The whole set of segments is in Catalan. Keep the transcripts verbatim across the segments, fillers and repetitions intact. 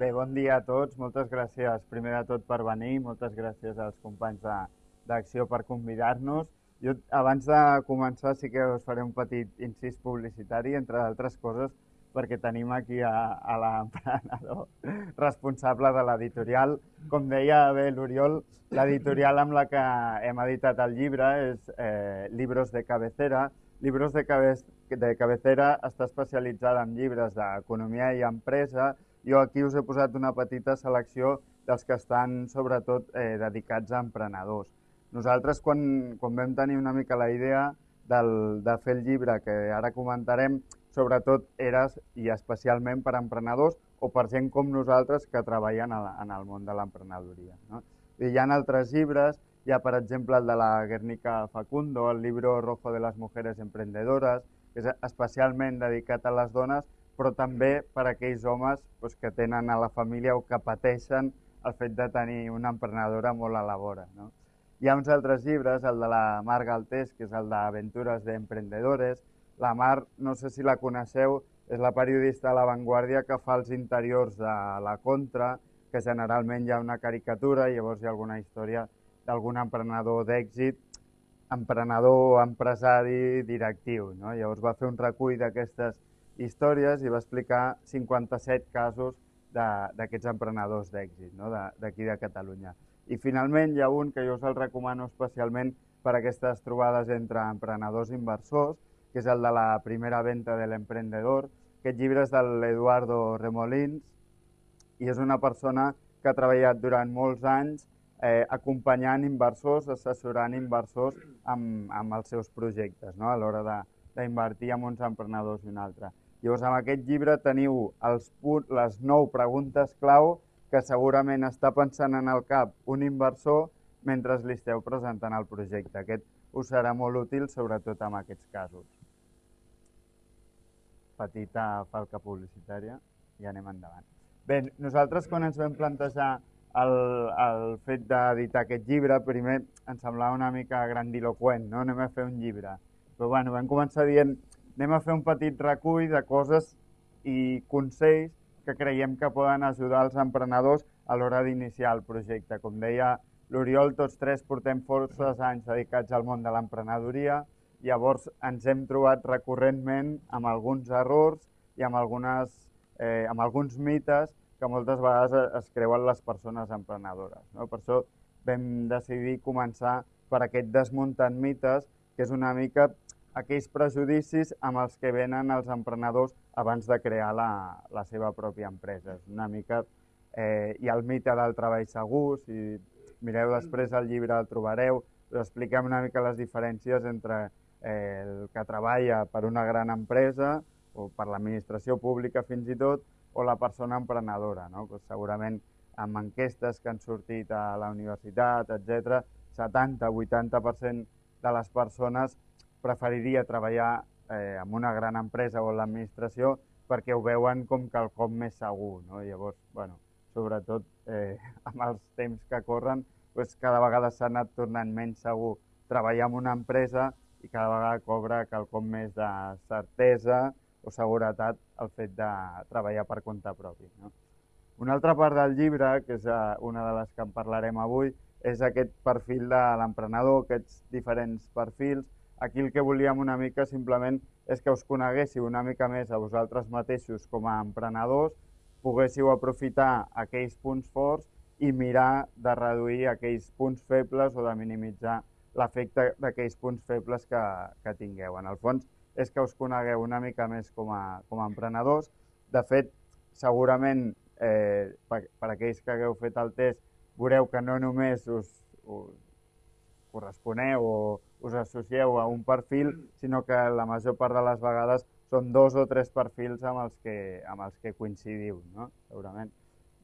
Bé, bon dia a tots. Moltes gràcies, primer de tot, per venir. Moltes gràcies als companys de- d'Acció per convidar-nos. Jo, abans de començar, sí que us faré un petit incís publicitari, entre d'altres coses, perquè tenim aquí a, a l'emprenedor responsable de l'editorial. Com deia bé l'Oriol, l'editorial amb la que hem editat el llibre és eh, Libros de Cabecera. Libros de, cabe de Cabecera està especialitzada en llibres d'economia i empresa. Jo aquí us he posat una petita selecció dels que estan sobretot eh, dedicats a emprenedors. Nosaltres, quan, quan vam tenir una mica la idea del, de fer el llibre que ara comentarem, sobretot era i especialment per emprenedors o per gent com nosaltres que treballen a la, en el món de l'emprenedoria. No? Hi ha altres llibres, hi ha per exemple el de la Guernica Facundo, el Libro Rojo de las Mujeres Emprendedoras, que és especialment dedicat a les dones, però també per a aquells homes doncs, que tenen a la família o que pateixen el fet de tenir una emprenedora molt a la vora. No? Hi ha uns altres llibres, el de la Mar Galtés, que és el d'Aventures de Emprendedores. La Mar, no sé si la coneixeu, és la periodista de La Vanguardia que fa els interiors de La Contra, que generalment hi ha una caricatura i llavors hi ha alguna història d'algun emprenedor d'èxit, emprenedor, empresari, directiu. No? Llavors va fer un recull d'aquestes històries i va explicar cinquanta-set casos d'aquests emprenedors d'èxit, no? d'aquí de, de Catalunya. I finalment hi ha un que jo us el recomano especialment per aquestes trobades entre emprenedors i inversors, que és el de la primera venta de l'emprendedor. Aquest llibre és de l'Eduardo Remolins i és una persona que ha treballat durant molts anys eh, acompanyant inversors, assessorant inversors amb, amb els seus projectes, no? a l'hora d'invertir en uns emprenedors i un altre. Llavors, amb aquest llibre teniu els punt, les nou preguntes clau que segurament està pensant en el cap un inversor mentre li esteu presentant el projecte. Aquest us serà molt útil, sobretot en aquests casos. Petita falca publicitària i anem endavant. Bé, nosaltres quan ens vam plantejar el, el fet d'editar aquest llibre, primer ens semblava una mica grandiloquent, no? Anem a fer un llibre. Però bueno, vam començar dient anem a fer un petit recull de coses i consells que creiem que poden ajudar els emprenedors a l'hora d'iniciar el projecte. Com deia l'Oriol, tots tres portem forces anys dedicats al món de l'emprenedoria, llavors ens hem trobat recurrentment amb alguns errors i amb, algunes, eh, amb alguns mites que moltes vegades es creuen les persones emprenedores. No? Per això vam decidir començar per aquest desmuntant mites, que és una mica aquells prejudicis amb els que venen els emprenedors abans de crear la, la seva pròpia empresa. És una mica, eh, hi ha el mite del treball segur, si mireu després el llibre el trobareu, us expliquem una mica les diferències entre eh, el que treballa per una gran empresa o per l'administració pública fins i tot, o la persona emprenedora. No? Pues segurament amb enquestes que han sortit a la universitat, etcètera, setanta a vuitanta per cent de les persones preferiria treballar eh, en una gran empresa o en l'administració perquè ho veuen com quelcom més segur. No? Llavors, bueno, sobretot eh, amb els temps que corren, pues, cada vegada s'ha anat tornant menys segur treballar en una empresa i cada vegada cobra quelcom més de certesa o seguretat el fet de treballar per compte propi. No? Una altra part del llibre, que és una de les que en parlarem avui, és aquest perfil de l'emprenedor, aquests diferents perfils. Aquí el que volíem una mica simplement és que us coneguéssiu una mica més a vosaltres mateixos com a emprenedors, poguéssiu aprofitar aquells punts forts i mirar de reduir aquells punts febles o de minimitzar l'efecte d'aquells punts febles que, que tingueu. En el fons és que us conegueu una mica més com a, com a emprenedors. De fet, segurament eh, per, per aquells que hagueu fet el test veureu que no només us, us corresponeu o us associeu a un perfil, sinó que la major part de les vegades són dos o tres perfils amb els que, amb els que coincidiu, no? Segurament.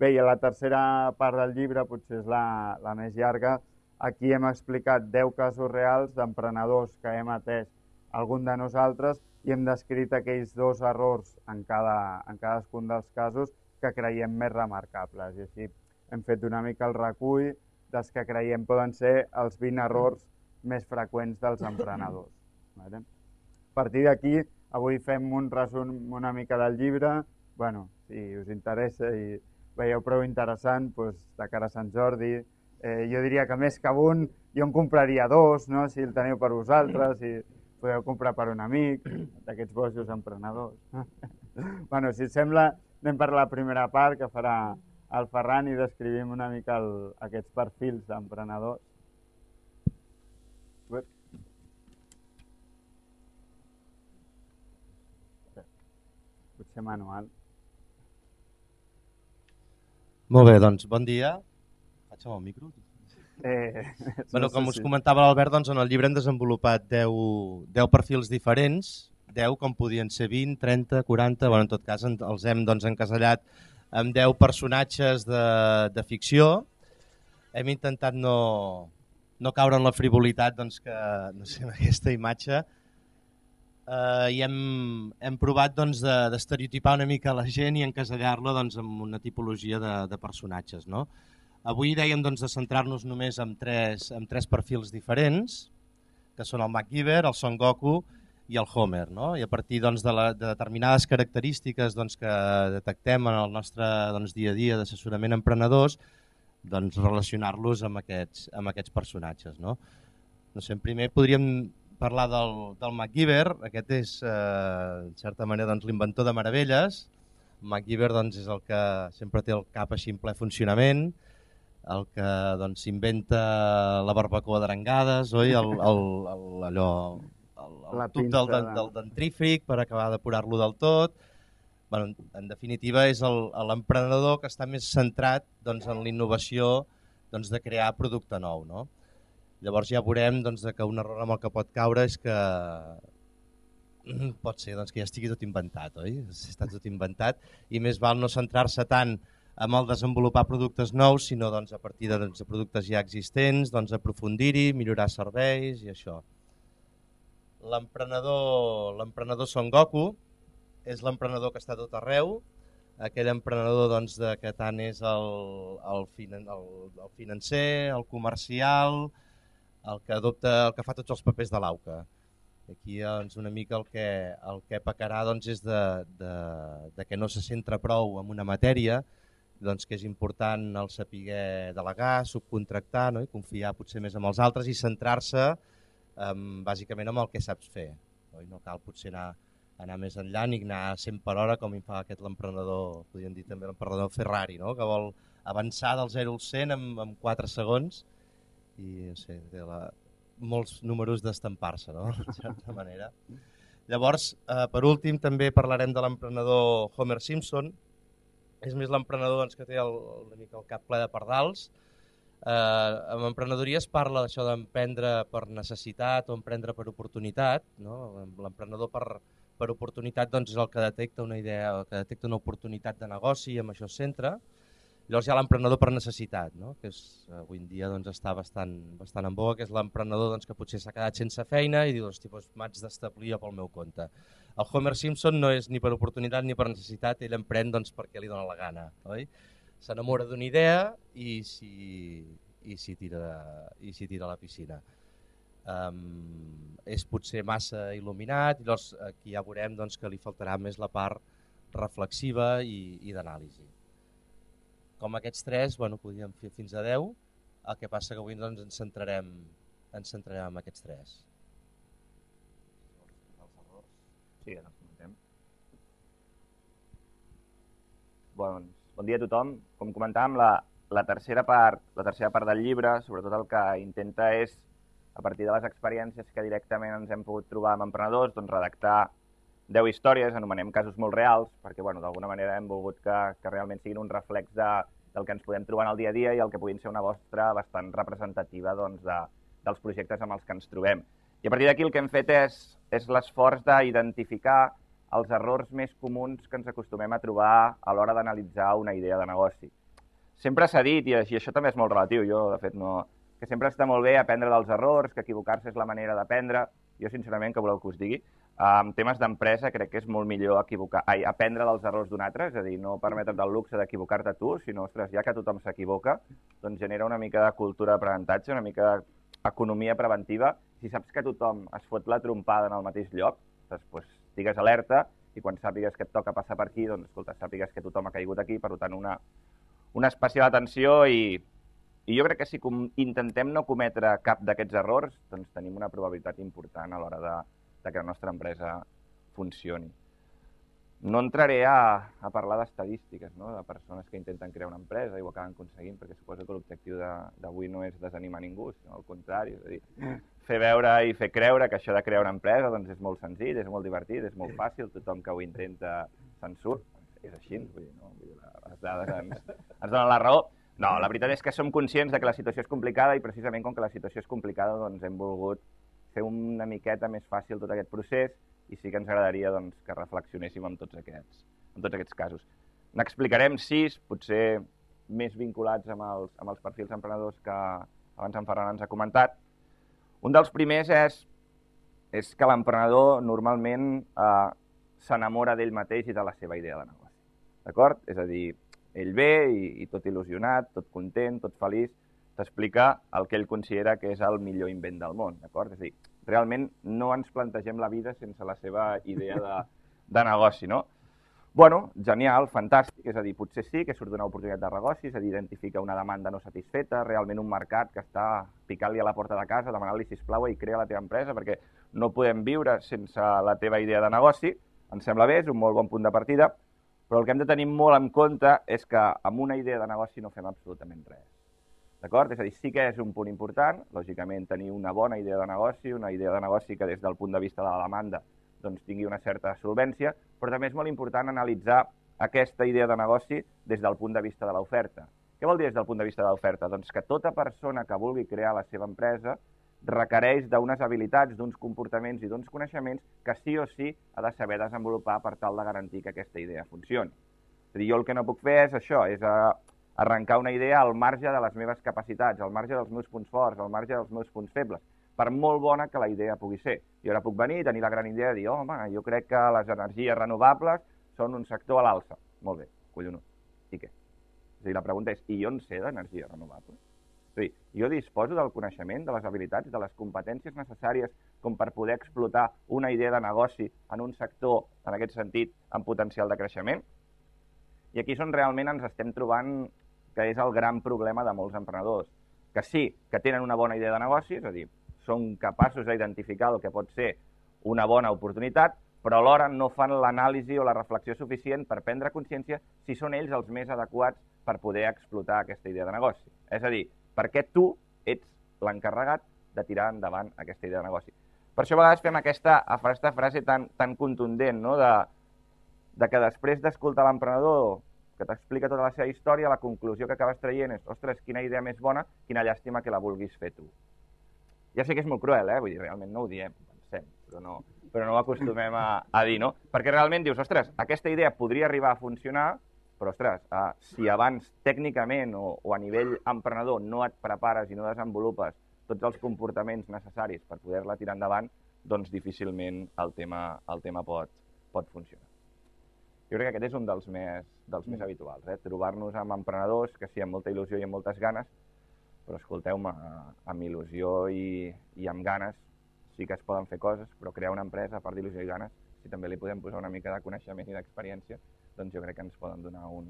Bé, i a la tercera part del llibre, potser és la, la més llarga, aquí hem explicat deu casos reals d'emprenedors que hem atès algun de nosaltres i hem descrit aquells dos errors en, cada, en cadascun dels casos que creiem més remarcables. I així hem fet una mica el recull dels que creiem poden ser els vint errors més freqüents dels emprenedors. A partir d'aquí, avui fem un resum una mica del llibre. Bueno, si us interessa i veieu prou interessant doncs, de cara a Sant Jordi. Eh, jo diria que més que un, jo en compraria dos, no? Si el teniu per vosaltres, si podeu comprar per un amic, d'aquests bojos emprenedors. Bueno, si us sembla, anem per la primera part, que farà el Ferran, i descrivim una mica el, aquests perfils d'emprenedors. Potser manual. Molt bé, doncs bon dia. Faig amb el micro? Eh, bueno, no com sé us si... comentava l'Albert, doncs en el llibre hem desenvolupat deu perfils diferents, deu com podien ser vint, trenta, quaranta, bueno, en tot cas els hem doncs, encasellat amb deu personatges de, de ficció. Hem intentat no, no caure en la frivolitat doncs, que, no sé, amb aquesta imatge, eh, i hem, hem provat doncs, d'estereotipar una mica la gent i encasellar-la doncs, amb una tipologia de, de personatges. No? Avui dèiem doncs, de centrar-nos només en tres, en tres perfils diferents, que són el MacGyver, el Son Goku i el Homer. No? I a partir doncs, de, la, de determinades característiques doncs, que detectem en el nostre doncs, dia a dia d'assessorament a emprenedors, doncs, relacionar-los amb, aquests, amb aquests personatges. No? No sé, primer podríem parlar del, del MacGyver. Aquest és, eh, en certa manera, doncs, l'inventor de meravelles. MacGyver doncs, és el que sempre té el cap així en ple funcionament, el que doncs, inventa la barbacoa d'arengades, oi? El, el, el, allò, el, el tub del, del dentrífic per acabar d'apurar-lo del tot. Bueno, en definitiva, és l'emprenedor que està més centrat doncs, en l'innovació doncs, de crear producte nou. No? Llavors ja veurem doncs, que un error amb el que pot caure és que pot ser doncs, que ja estigui tot inventat, oi? Està tot inventat i més val no centrar-se tant en el desenvolupar productes nous, sinó doncs, a partir de, doncs, de productes ja existents, doncs, aprofundir-hi, millorar serveis i això. L'emprenedor l'emprenedor Son Goku és l'emprenedor que està tot arreu, aquell emprenedor doncs, de, que tant és el, el, finan, el, el financer, el comercial, el que adopta, el que fa tots els papers de l'auca. Aquí doncs, una mica el que, el que pecarà doncs, és de, de, de que no se centra prou en una matèria, doncs, que és important el saber delegar, subcontractar, no? I confiar potser més en els altres i centrar-se um, bàsicament en el que saps fer. No, no cal potser anar, anar més enllà ni anar a cent per hora com hi fa aquest l'emprenedor, podríem dir també l'emprenedor Ferrari, no? Que vol avançar del zero al cent en, en quatre segons i no sé, té la, molts números d'estampar-se, no? De certa manera. Llavors, eh, per últim, també parlarem de l'emprenedor Homer Simpson. És més l'emprenedor doncs, que té el, una mica el cap ple de pardals. Eh, amb emprenedoria es parla d'això d'emprendre per necessitat o emprendre per oportunitat. No? L'emprenedor per, per oportunitat doncs, és el que detecta una idea, el que detecta una oportunitat de negoci i amb això es centra. Llavors hi ha l'emprenedor per necessitat, no? Que és, avui en dia doncs, està bastant, bastant en boga, que és l'emprenedor doncs, que potser s'ha quedat sense feina i diu, hosti, doncs, m'haig d'establir pel meu compte. El Homer Simpson no és ni per oportunitat ni per necessitat, ell emprèn doncs, perquè li dona la gana. S'enamora d'una idea i s'hi tira, tira a la piscina. Um, és potser massa il·luminat i llavors aquí ja veurem doncs, que li faltarà més la part reflexiva i, i d'anàlisi. Com aquests tres, bueno, podríem fer fins a deu, el que passa que avui doncs, ens, centrarem, ens centrarem en aquests tres. Sí, ara ens comentem. Bon, bon dia a tothom. Com comentàvem, la, la, tercera part, la tercera part del llibre, sobretot el que intenta és, a partir de les experiències que directament ens hem pogut trobar amb emprenedors, doncs redactar deu històries, anomenem casos molt reals, perquè bueno, d'alguna manera hem volgut que, que realment siguin un reflex de, del que ens podem trobar en el dia a dia i el que puguin ser una mostra bastant representativa doncs, de, dels projectes amb els que ens trobem. I a partir d'aquí el que hem fet és, és l'esforç d'identificar els errors més comuns que ens acostumem a trobar a l'hora d'analitzar una idea de negoci. Sempre s'ha dit, i això també és molt relatiu, jo de fet no, que sempre està molt bé aprendre dels errors, que equivocar-se és la manera d'aprendre. Jo sincerament, que voleu que us digui, en temes d'empresa crec que és molt millor equivocar, ai, aprendre dels errors d'un altre, és a dir, no permetre't el luxe d'equivocar-te tu, sinó, ostres, ja que tothom s'equivoca, doncs genera una mica de cultura d'aprenentatge, una mica d'economia preventiva. Si saps que tothom es fot la trompada en el mateix lloc, doncs estigues alerta i quan sàpigues que et toca passar per aquí, doncs escolta, sàpigues que tothom ha caigut aquí, per tant una, una especial atenció i, i jo crec que si intentem no cometre cap d'aquests errors, doncs tenim una probabilitat important a l'hora de, de que la nostra empresa funcioni. No entraré a, a parlar d'estadístiques, no? De persones que intenten crear una empresa i ho acaben aconseguint, perquè suposo que l'objectiu d'avui no és desanimar ningú, sinó al contrari, és a dir, fer veure i fer creure que això de crear una empresa doncs és molt senzill, és molt divertit, és molt fàcil, tothom que ho intenta se'n surt. És així, vull dir, no? Vull dir, les dades ens, ens donen la raó. No, la veritat és que som conscients de que la situació és complicada i precisament com que la situació és complicada doncs hem volgut fer una miqueta més fàcil tot aquest procés i sí que ens agradaria doncs, que reflexionéssim en tots aquests, en tots aquests casos. N'explicarem sis, potser més vinculats amb els, amb els perfils emprenedors que abans en Ferran ens ha comentat. Un dels primers és, és que l'emprenedor normalment eh, s'enamora d'ell mateix i de la seva idea de negoci. D'acord? És a dir, ell ve i, i tot il·lusionat, tot content, tot feliç, t'explica el que ell considera que és el millor invent del món. D'acord? És a dir, realment no ens plantegem la vida sense la seva idea de, de negoci, no? Bueno, genial, fantàstic, és a dir, potser sí que surt d'una oportunitat de negoci, és a dir, identifica una demanda no satisfeta, realment un mercat que està picant-li a la porta de casa, demanant-li sisplau i crea la teva empresa, perquè no podem viure sense la teva idea de negoci, em sembla bé, és un molt bon punt de partida, però el que hem de tenir molt en compte és que amb una idea de negoci no fem absolutament res. D'acord? És a dir, sí que és un punt important, lògicament, tenir una bona idea de negoci, una idea de negoci que des del punt de vista de la demanda doncs, tingui una certa solvència, però també és molt important analitzar aquesta idea de negoci des del punt de vista de l'oferta. Què vol dir des del punt de vista de l'oferta? Doncs que tota persona que vulgui crear la seva empresa requereix d'unes habilitats, d'uns comportaments i d'uns coneixements que sí o sí ha de saber desenvolupar per tal de garantir que aquesta idea funcioni. És a dir, jo el que no puc fer és això, és arrencar una idea al marge de les meves capacitats, al marge dels meus punts forts, al marge dels meus punts febles, per molt bona que la idea pugui ser. Jo ara puc venir i tenir la gran idea de dir, home, jo crec que les energies renovables són un sector a l'alça. Molt bé, collonut. I què? És a dir, la pregunta és, i jo en sé d'energies renovables? És a dir, jo disposo del coneixement, de les habilitats, de les competències necessàries com per poder explotar una idea de negoci en un sector, en aquest sentit, amb potencial de creixement? I aquí és on realment ens estem trobant que és el gran problema de molts emprenedors, que sí que tenen una bona idea de negoci, és a dir, són capaços d'identificar el que pot ser una bona oportunitat, però alhora no fan l'anàlisi o la reflexió suficient per prendre consciència si són ells els més adequats per poder explotar aquesta idea de negoci. És a dir, perquè tu ets l'encarregat de tirar endavant aquesta idea de negoci. Per això a vegades fem aquesta, aquesta frase tan, tan contundent, no? de, de que després d'escoltar l'emprenedor que t'explica tota la seva història, la conclusió que acabes traient és, ostres, quina idea més bona, quina llàstima que la vulguis fer tu. Ja sé que és molt cruel, eh? Vull dir, realment no ho diem, ho pensem, però no, però no ho acostumem a, a dir, no? Perquè realment dius, ostres, aquesta idea podria arribar a funcionar, però, ostres, eh, si abans tècnicament o, o a nivell emprenedor no et prepares i no desenvolupes tots els comportaments necessaris per poder-la tirar endavant, doncs difícilment el tema, el tema pot, pot funcionar. Jo crec que aquest és un dels més, dels més habituals, eh? Trobar-nos amb emprenedors que sí, amb molta il·lusió i amb moltes ganes, però escolteu-me, amb il·lusió i, i amb ganes sí que es poden fer coses, però crear una empresa, a part d'il·lusió i ganes, si també li podem posar una mica de coneixement i d'experiència, doncs jo crec que ens poden donar un,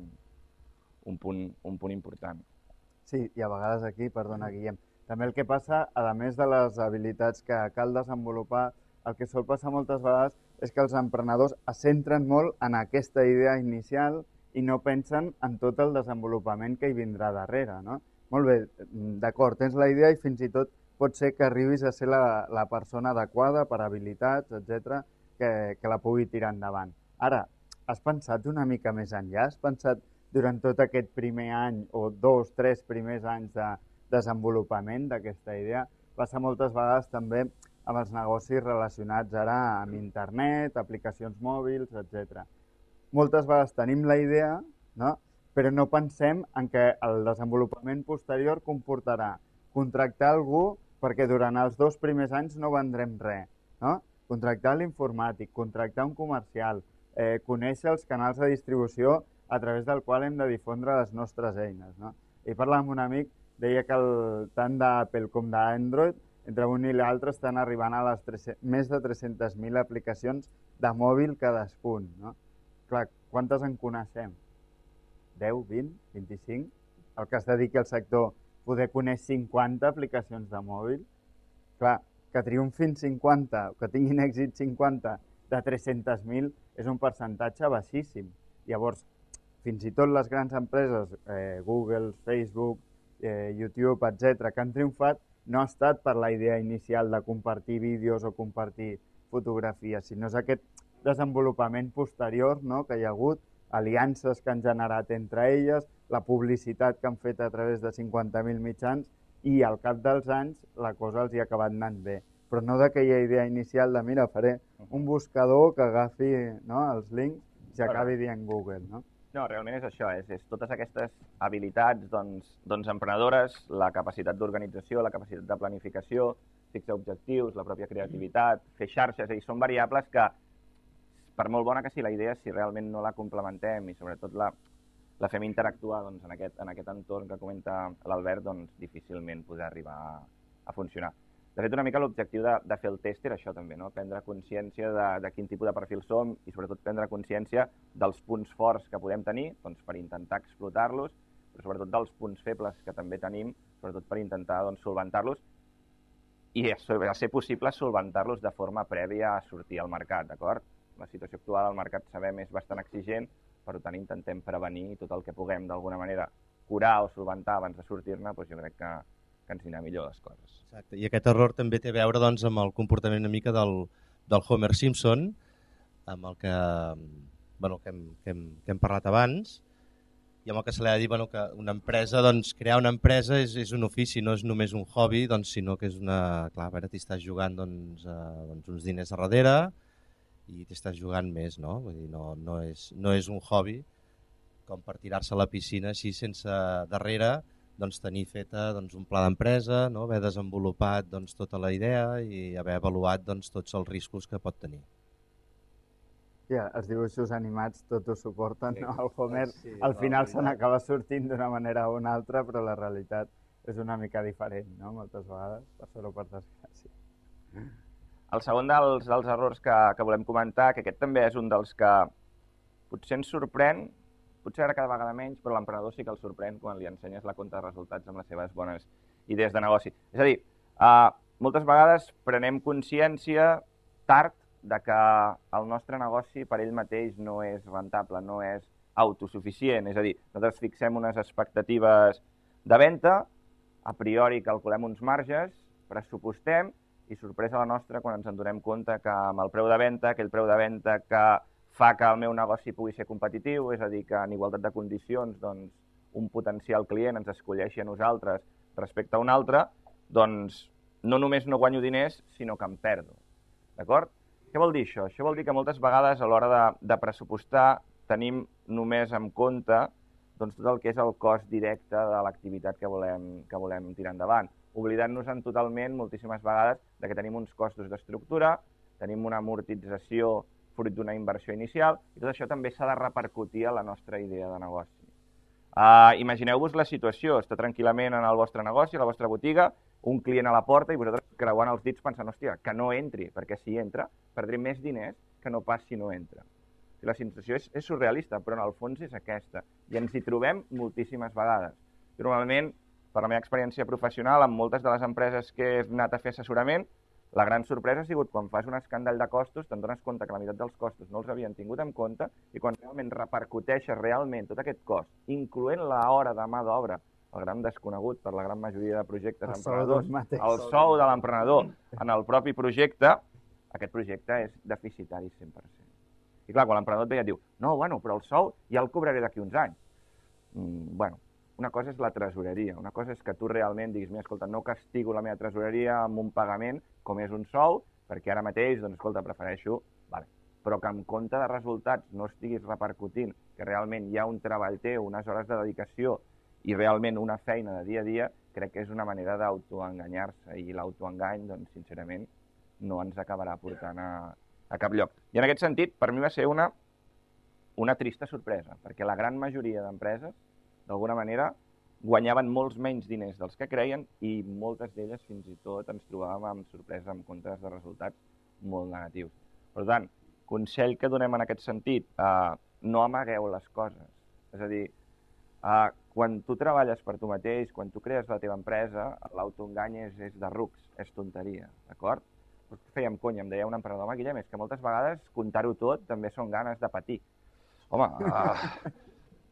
un, punt, un punt important. Sí, i a vegades aquí, perdona Guillem, també el que passa, a més de les habilitats que cal desenvolupar, el que sol passar moltes vegades és que els emprenedors es centren molt en aquesta idea inicial i no pensen en tot el desenvolupament que hi vindrà darrere, no? Molt bé, d'acord, tens la idea i fins i tot pot ser que arribis a ser la, la persona adequada per habilitats, etcètera, que, que la pugui tirar endavant. Ara, has pensat una mica més enllà? Has pensat durant tot aquest primer any o dos, tres primers anys de desenvolupament d'aquesta idea? Passa moltes vegades també amb els negocis relacionats ara amb internet, aplicacions mòbils, etcètera. Moltes vegades tenim la idea, no? Però no pensem en que el desenvolupament posterior comportarà contractar algú perquè durant els dos primers anys no vendrem res, no? Contractar l'informàtic, contractar un comercial, eh, conèixer els canals de distribució a través del qual hem de difondre les nostres eines, no? I parlant amb un amic, deia que el, tant d'Apple com d'Android, entre un i l'altre estan arribant a les més de tres-centes mil aplicacions de mòbil cadascun, no? Clar, quantes en coneixem? deu, vint, vint-i-cinc? el que es dediqui al sector poder coneix cinquanta aplicacions de mòbil. Clar, que triomfin cinquanta, que tinguin èxit cinquanta de tres-centes mil és un percentatge baixíssim. Llavors, fins i tot les grans empreses, eh, Google, Facebook, eh, YouTube, etcètera, que han triomfat, no ha estat per la idea inicial de compartir vídeos o compartir fotografies, sinó és aquest desenvolupament posterior, no?, que hi ha hagut, aliances que han generat entre elles, la publicitat que han fet a través de cinquanta mil mitjans, i al cap dels anys la cosa els hi ha acabat anant bé. Però no d'aquella idea inicial de, mira, faré un buscador que agafi, no?, els links i s'acabi dient Google, no? No, realment és això, és, és totes aquestes habilitats doncs, doncs emprenedores, la capacitat d'organització, la capacitat de planificació, fixar objectius, la pròpia creativitat, fer xarxes, i són variables que, per molt bona que sigui la idea, si realment no la complementem i sobretot la, la fem interactuar doncs, en, aquest, en aquest entorn que comenta l'Albert, doncs difícilment podrà arribar a, a funcionar. De fet, una mica l'objectiu de, de fer el test era això també, no? Prendre consciència de, de quin tipus de perfil som i sobretot prendre consciència dels punts forts que podem tenir doncs, per intentar explotar-los, però sobretot dels punts febles que també tenim, sobretot per intentar doncs, solventar-los i, a ser possible, solventar-los de forma prèvia a sortir al mercat, d'acord? La situació actual al mercat, sabem, és bastant exigent, per tant intentem prevenir tot el que puguem d'alguna manera curar o solventar abans de sortir-ne, doncs jo crec que que ens anirà millor les coses. Exacte. I aquest error també té a veure doncs, amb el comportament una mica del, del Homer Simpson, amb el que, bueno, que, hem, que, hem, que hem parlat abans, i amb el que se li ha de dir bueno, que una empresa, doncs, crear una empresa és, és un ofici, no és només un hobby, doncs, sinó que és una... Clar, a veure, t'hi estàs jugant doncs, eh, doncs, uns diners a darrere i t'hi estàs jugant més, no? Vull dir, no, no, és, no és un hobby com per tirar-se a la piscina així sense darrere doncs, tenir feta doncs, un pla d'empresa, no? Haver desenvolupat doncs, tota la idea i haver avaluat doncs, tots els riscos que pot tenir. Ja, els dibuixos animats tot ho suporten, Sí, no? El Homer sí, al final no, se n'acaba sortint d'una manera o una altra, però la realitat és una mica diferent, no? Moltes vegades, per sort o per desgràcia. El segon dels, dels errors que, que volem comentar, que aquest també és un dels que potser ens sorprèn, potser ara cada vegada menys, però l'emprenedor sí que el sorprèn quan li ensenyes la compta de resultats amb les seves bones idees de negoci. És a dir, eh, moltes vegades prenem consciència tard de que el nostre negoci per ell mateix no és rentable, no és autosuficient. És a dir, nosaltres fixem unes expectatives de venda, a priori calculem uns marges, pressupostem i sorpresa la nostra quan ens en donem compte que amb el preu de venda, aquell preu de venda que fa que el meu negoci pugui ser competitiu, és a dir, que en igualtat de condicions doncs, un potencial client ens escolleixi a nosaltres respecte a un altre, doncs no només no guanyo diners, sinó que em perdo. D'acord? Què vol dir això? Això vol dir que moltes vegades a l'hora de, de pressupostar tenim només en compte doncs, tot el que és el cost directe de l'activitat que volem, que volem tirar endavant, oblidant-nos-en totalment moltíssimes vegades de que tenim uns costos d'estructura, tenim una amortització fruit d'una inversió inicial, i tot això també s'ha de repercutir a la nostra idea de negoci. Uh, Imagineu-vos la situació, està tranquil·lament en el vostre negoci, a la vostra botiga, un client a la porta i vosaltres creuant els dits pensant, hòstia, que no entri, perquè si entra perdré més diners que no pas si no entra. La situació és, és surrealista, però en el fons és aquesta, i ens hi trobem moltíssimes vegades. Normalment, per la meva experiència professional, amb moltes de les empreses que he anat a fer assessorament, la gran sorpresa ha sigut quan fas un escàndol de costos, te'n dones compte que la meitat dels costos no els havien tingut en compte i quan realment repercuteixes realment tot aquest cost, incloent l'hora de mà d'obra, el gran desconegut per la gran majoria de projectes El emprenedors, mateix. el sou de l'emprenedor en el propi projecte, aquest projecte és deficitari cent per cent. I clar, quan l'emprenedor et ve i et diu no, bueno, però el sou ja el cobraré d'aquí uns anys. Mm, bueno, una cosa és la tresoreria, una cosa és que tu realment diguis, mira, escolta, no castigo la meva tresoreria amb un pagament com és un sou, perquè ara mateix, doncs, escolta, prefereixo, vale. Però que en compte de resultats no estiguis repercutint, que realment hi ha un treball teu, unes hores de dedicació i realment una feina de dia a dia, crec que és una manera d'autoenganyar-se i l'autoengany, doncs, sincerament, no ens acabarà portant a, a cap lloc. I en aquest sentit, per mi va ser una, una trista sorpresa, perquè la gran majoria d'empreses d'alguna manera, guanyaven molts menys diners dels que creien i moltes d'elles fins i tot ens trobàvem amb sorpresa, amb comptes de resultats molt negatius. Per tant, consell que donem en aquest sentit, eh, no amagueu les coses. És a dir, Uh, quan tu treballes per tu mateix, quan tu crees la teva empresa, l'autoengany és, és de rucs, és tonteria, d'acord? Fèiem conya, em deia un emprenedor, home, Guillem, és que moltes vegades contar-ho tot també són ganes de patir. Home, uh,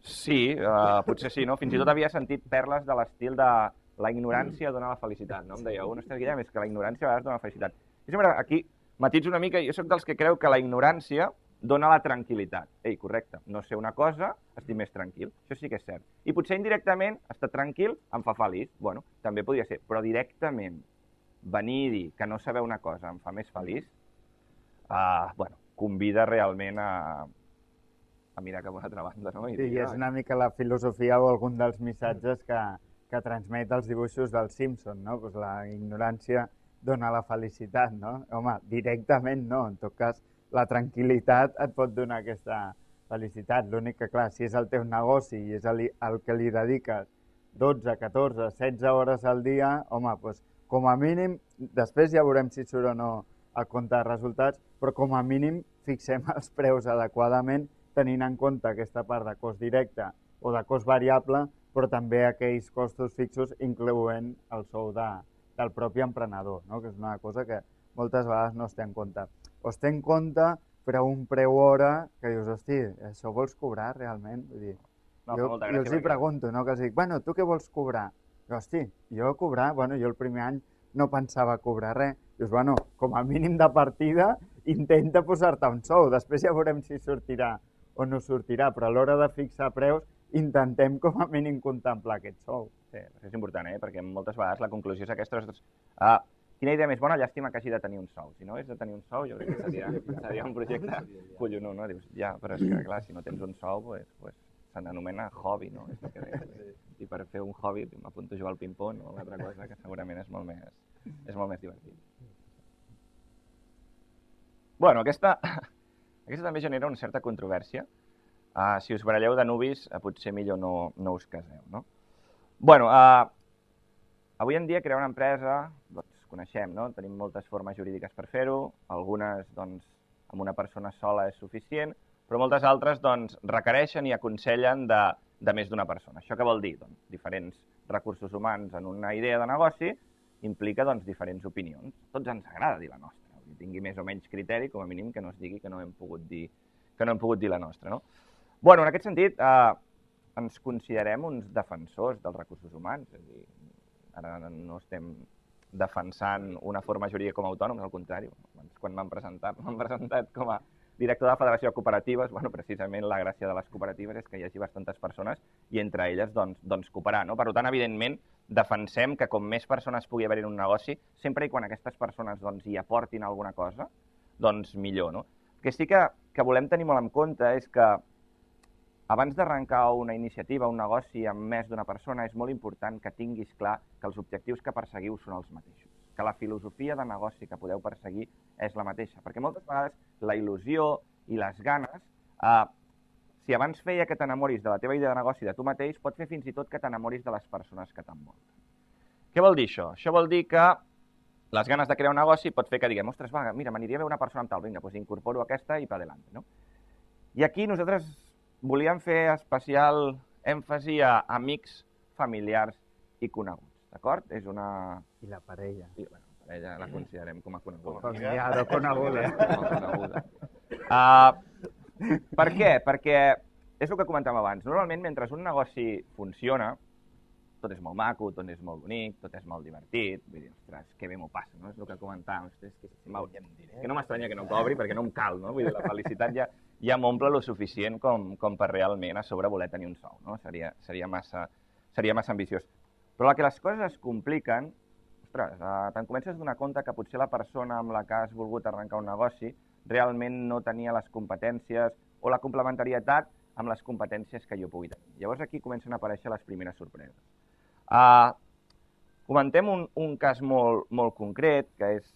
sí, uh, potser sí, no? Fins i tot havia sentit perles de l'estil de la ignorància dona la felicitat, no? Em deia, un, ostres, Guillem, és que la ignorància a vegades dona la felicitat. I sempre aquí matitzo una mica, jo sóc dels que creu que la ignorància dona la tranquil·litat. Ei, correcte, no sé una cosa, estic més tranquil. Això sí que és cert. I potser indirectament, estar tranquil em fa feliç. Bueno, també podria ser, però directament venir i dir que no saber una cosa em fa més feliç, uh, bueno, convida realment a, a mirar cap a una altra banda, no? I sí, dir, és una mica la filosofia o algun dels missatges que, que transmet els dibuixos del Simpson, no? Pues la ignorància dona la felicitat, no? Home, directament no, en tot cas, la tranquil·litat et pot donar aquesta felicitat. L'únic que, clar, si és el teu negoci i és el, el que li dediques dotze, catorze, setze hores al dia, home, doncs, com a mínim, després ja veurem si surt o no el compte de resultats, però com a mínim fixem els preus adequadament, tenint en compte aquesta part de cost directe o de cost variable, però també aquells costos fixos, incloent el sou de, del propi emprenedor, no? Que és una cosa que moltes vegades no es té en compte. O es té en compte, però un preu hora que dius, hosti, això vols cobrar realment? Vull dir, no, jo, jo els hi pregunto, no? Que els dic, bueno, tu què vols cobrar? I, hosti, jo cobrar, bueno, jo el primer any no pensava cobrar res. Dius, bueno, com a mínim de partida, intenta posar-te un sou. Després ja veurem si sortirà o no sortirà, però a l'hora de fixar preus, intentem com a mínim contemplar aquest sou. Sí, això és important, eh? Perquè moltes vegades la conclusió és aquesta. Uh, quina idea més bona, llàstima que hagi de tenir un sou. Si no és de tenir un sou, jo crec que seria, seria un projecte collonut, no? Dius, ja, però és que, clar, si no tens un sou, pues, pues, s'anomena hobby, no? És que deia. I per fer un hobby m'apunto a jugar al ping-pong o una altra cosa que segurament és molt més, és molt més divertit. Bueno, aquesta, aquesta també genera una certa controvèrsia. Uh, si us baralleu de nuvis, uh, potser millor no, no us caseu, no? Bueno, uh, avui en dia crear una empresa, doncs coneixem, no? Tenim moltes formes jurídiques per fer-ho, algunes, doncs, amb una persona sola és suficient, però moltes altres, doncs, requereixen i aconsellen de, de més d'una persona. Això què vol dir? Doncs, diferents recursos humans en una idea de negoci implica, doncs, diferents opinions. Tots ens agrada dir la nostra, que tingui més o menys criteri, com a mínim que no es digui que no hem pogut dir, que no hem pogut dir la nostra, no? Bueno, en aquest sentit, eh, ens considerem uns defensors dels recursos humans, és a dir, ara no estem defensant una forma jurídica com a autònoms, al contrari, quan m'han presentat, m'han presentat com a director de la Federació de Cooperatives, bueno, precisament la gràcia de les cooperatives és que hi hagi bastantes persones i entre elles, doncs, doncs cooperar, no? Per tant, evidentment, defensem que com més persones pugui haver en un negoci, sempre i quan aquestes persones, doncs, hi aportin alguna cosa, doncs millor, no? El que sí que, que volem tenir molt en compte és que abans d'arrencar una iniciativa, un negoci amb més d'una persona, és molt important que tinguis clar que els objectius que perseguiu són els mateixos, que la filosofia de negoci que podeu perseguir és la mateixa, perquè moltes vegades la il·lusió i les ganes, eh, si abans feia que t'enamoris de la teva idea de negoci de tu mateix, pot fer fins i tot que t'enamoris de les persones que t'envolten. Què vol dir això? Això vol dir que les ganes de crear un negoci pot fer que diguem, ostres, va, mira, m'aniria bé una persona amb tal, vinga, doncs incorporo aquesta i pa adelante, no? I aquí nosaltres volíem fer especial èmfasi a amics, familiars i coneguts, d'acord? És una... I la parella. I, bueno, la parella la considerem com a coneguda. Familiar o coneguda. Com a coneguda. Uh, per què? Perquè és el que comentàvem abans. Normalment, mentre un negoci funciona, tot és molt maco, tot és molt bonic, tot és molt divertit. Vull dir, ostres, que bé m'ho passa, no? És el que comentàvem. Ostres, que, si que no m'estranya que no cobri perquè no em cal, no? Vull dir, la felicitat ja, ja m'omple lo suficient com, com per realment a sobre voler tenir un sou, no? Seria, seria, massa, seria massa ambiciós. Però que les coses es compliquen, ostres, eh, te'n comences a donar compte que potser la persona amb la que has volgut arrencar un negoci realment no tenia les competències o la complementarietat amb les competències que jo pugui tenir. Llavors aquí comencen a aparèixer les primeres sorpreses. Uh, comentem un, un cas molt, molt concret, que és,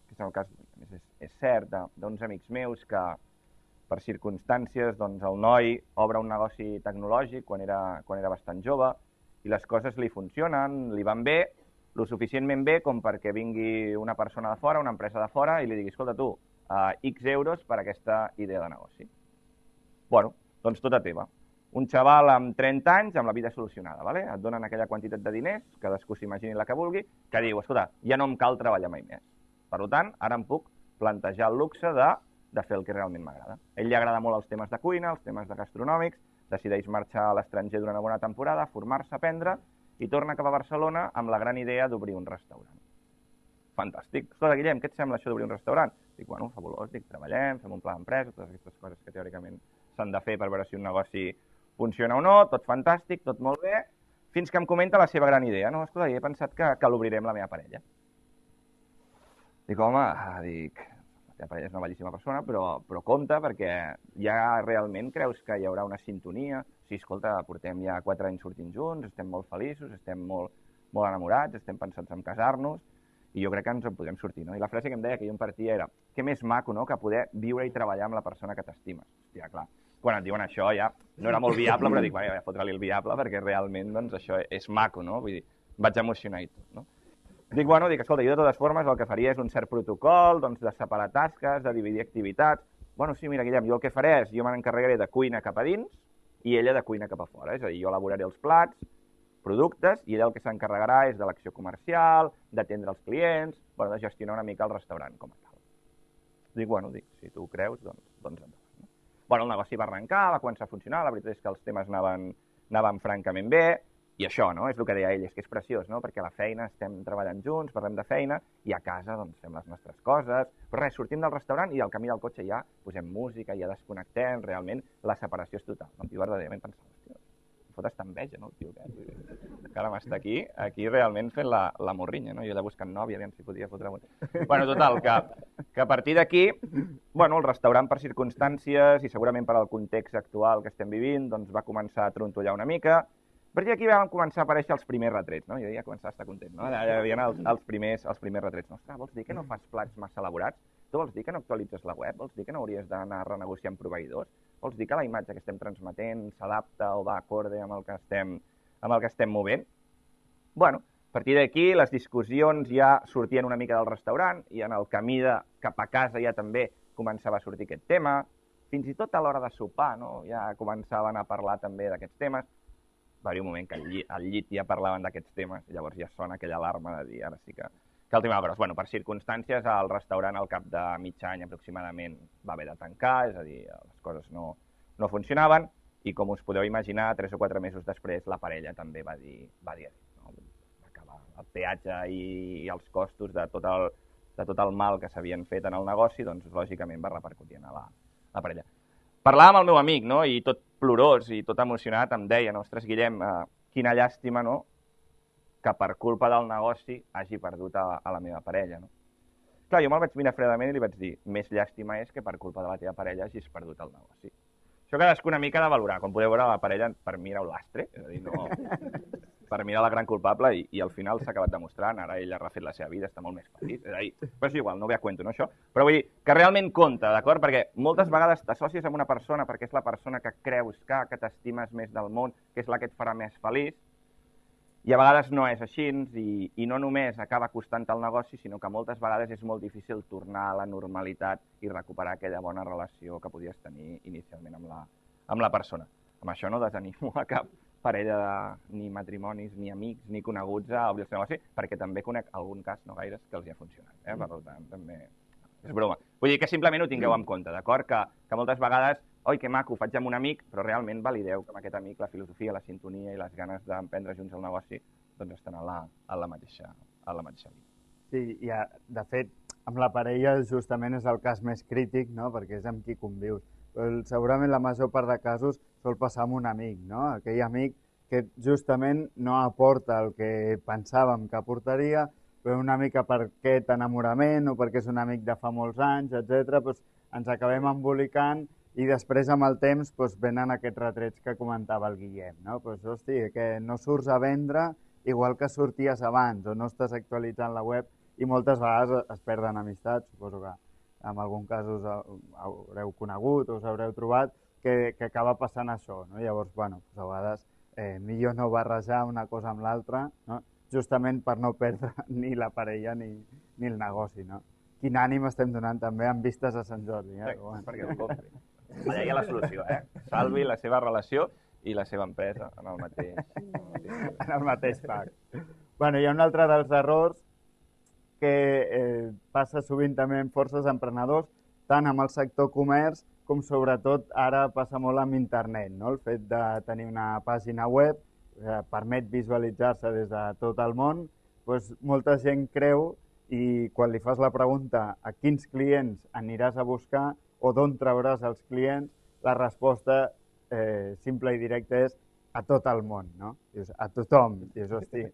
que és el cas, és, és cert, d'uns amics meus que per circumstàncies doncs, el noi obre un negoci tecnològic quan era, quan era bastant jove i les coses li funcionen, li van bé, lo suficientment bé com perquè vingui una persona de fora, una empresa de fora i li digui, escolta tu, uh, X euros per aquesta idea de negoci. Bueno, doncs tota teva. un xaval amb trenta anys amb la vida solucionada, ¿vale? Et donen aquella quantitat de diners, cadascú s'imagini la que vulgui, que diu, escolta, ja no em cal treballar mai més. Per tant, ara em puc plantejar el luxe de, de fer el que realment m'agrada. A ell li agrada molt els temes de cuina, els temes de gastronòmics, decideix marxar a l'estranger durant una bona temporada, formar-se, aprendre, i torna cap a Barcelona amb la gran idea d'obrir un restaurant. Fantàstic. Escolta, Guillem, què et sembla això d'obrir un restaurant? Dic, bueno, fabulós, dic, treballem, fem un pla d'empresa, totes aquestes coses que teòricament s'han de fer per veure si un negoci funciona o no, tot fantàstic, tot molt bé, fins que em comenta la seva gran idea. No, escolta, he pensat que, que l'obriré amb la meva parella. Dic, home, dic, la teva parella és una bellíssima persona, però, però compte, perquè ja realment creus que hi haurà una sintonia. Sí, escolta, portem ja quatre anys sortint junts, estem molt feliços, estem molt, molt enamorats, estem pensats en casar-nos, i jo crec que ens en podrem sortir, no? I la frase que em deia que jo em partia era, què més maco, no?, que poder viure i treballar amb la persona que t'estimes. Hòstia, clar, quan et diuen això ja no era molt viable, però dic, vaja, fotre-li el viable, perquè realment, doncs, això és maco, no? Vull dir, vaig emocionar i tot, no? Dic, bueno, dic, escolta, jo de totes formes el que faria és un cert protocol, doncs, de separar tasques, de dividir activitats. Bueno, sí, mira, Guillem, jo el que faré és, jo me n'encarregaré de cuina cap a dins i ella de cuina cap a fora. És a dir, jo elaboraré els plats, productes, i ella el que s'encarregarà és de l'acció comercial, d'atendre els clients, bueno, de gestionar una mica el restaurant com a tal. Dic, bueno, dic, si tu ho creus, doncs, doncs endavant. No? Bueno, el negoci va arrencar, va començar a funcionar, la veritat és que els temes anaven, anaven francament bé, i això, no?, és el que deia ell, és que és preciós, no?, perquè a la feina estem treballant junts, parlem de feina, i a casa, doncs, fem les nostres coses, però res, sortim del restaurant i al camí del cotxe ja posem música, ja desconnectem, realment la separació és total. No? Jo verdaderament pensava, hòstia, em fot esta enveja, no, el tio, que encara m'està aquí, aquí realment fent la, la morrinya, no?, jo allà buscant nòvia, aviam si podia fotre... Bueno, total, que, que a partir d'aquí, bueno, el restaurant per circumstàncies i segurament per al context actual que estem vivint, doncs va començar a trontollar una mica. A partir d'aquí van començar a aparèixer els primers retrets, no? Jo ja començava a estar content, no? Hi havia els, els, primers, els primers retrets. No, ostres, vols dir que no fas plats massa elaborats? Tu vols dir que no actualitzes la web? Vols dir que no hauries d'anar renegociant proveïdors? Vols dir que la imatge que estem transmetent s'adapta o va acorde amb el que estem, amb el que estem movent? Bueno, a partir d'aquí les discussions ja sortien una mica del restaurant i en el camí de, cap a casa ja també començava a sortir aquest tema. Fins i tot a l'hora de sopar, no? Ja començaven a parlar també d'aquests temes. Va haver un moment que al llit, al llit ja parlaven d'aquests temes, i llavors ja sona aquella alarma de dir, ara sí que, que el tema de Però, per circumstàncies, el restaurant al cap de mig any aproximadament va haver de tancar, és a dir, les coses no, no funcionaven, i com us podeu imaginar, tres o quatre mesos després, la parella també va dir, va dir no? Va acabar el peatge i, i els costos de tot el, de tot el mal que s'havien fet en el negoci, doncs lògicament va repercutir en la, la parella. Parlava amb el meu amic, no?, i tot plorós i tot emocionat em deia, ostres, Guillem, eh, quina llàstima, no?, que per culpa del negoci hagi perdut a, a la meva parella, no? Clar, jo me'l vaig mirar fredament i li vaig dir, més llàstima és que per culpa de la teva parella hagis perdut el negoci. Això cadascú una mica de valorar. Com podeu veure, la parella per mi era un lastre, és a dir, no... per mi era la gran culpable i, i al final s'ha acabat demostrant, ara ell ha refet la seva vida, està molt més feliç, és a dir, però és igual, no ve a cuento, no, això? Però vull dir que realment compta, d'acord? Perquè moltes vegades t'associes amb una persona perquè és la persona que creus que, que t'estimes més del món, que és la que et farà més feliç, i a vegades no és així, i, i no només acaba costant el negoci, sinó que moltes vegades és molt difícil tornar a la normalitat i recuperar aquella bona relació que podies tenir inicialment amb la, amb la persona. Amb això no desanimo a cap parella de, ni matrimonis, ni amics, ni coneguts a obrir el seu negoci, perquè també conec algun cas, no gaires, que els hi ha funcionat. Eh? Per tant, també és broma. Vull dir que simplement ho tingueu en compte, d'acord? Que, que moltes vegades, oi, que maco, ho faig amb un amic, però realment valideu que amb aquest amic la filosofia, la sintonia i les ganes d'emprendre junts el negoci doncs estan a la, a la mateixa, a la mateixa línia. Sí, i de fet, amb la parella justament és el cas més crític, no?, perquè és amb qui convius. Però segurament la major part de casos sol passar amb un amic, no? Aquell amic que justament no aporta el que pensàvem que aportaria, però una mica per aquest enamorament o perquè és un amic de fa molts anys, etcètera, doncs ens acabem embolicant i després amb el temps doncs, venen aquests retrets que comentava el Guillem, no? Doncs, hosti, que no surts a vendre igual que sorties abans o no estàs actualitzant la web i moltes vegades es perden amistats, suposo que en algun cas us haureu conegut o us haureu trobat, que, que acaba passant això, no? Llavors, bueno, doncs a vegades eh, millor no barrejar una cosa amb l'altra, no? Justament per no perdre ni la parella ni, ni el negoci, no? Quin ànim estem donant també amb vistes a Sant Jordi. Eh? Sí, perquè ho compri. Allà hi ha la solució, eh? Salvi la seva relació. i la seva empresa en el mateix, en el mateix pack. Bueno, hi ha un altre dels errors que eh, passa sovint també en forces emprenedors, tant amb el sector comerç com sobretot ara passa molt amb internet, no? El fet de tenir una pàgina web eh, permet visualitzar-se des de tot el món, doncs molta gent creu i quan li fas la pregunta a quins clients aniràs a buscar o d'on trauràs els clients, la resposta eh, simple i directa és a tot el món, no? Dius, a tothom. Dius, hosti,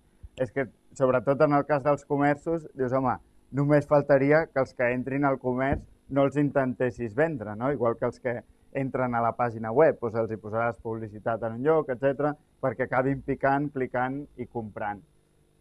és que sobretot en el cas dels comerços, dius, home, només faltaria que els que entrin al comerç no els intentessis vendre, no? Igual que els que entren a la pàgina web, doncs els hi posaràs publicitat en un lloc, etcètera, perquè acabin picant, clicant i comprant.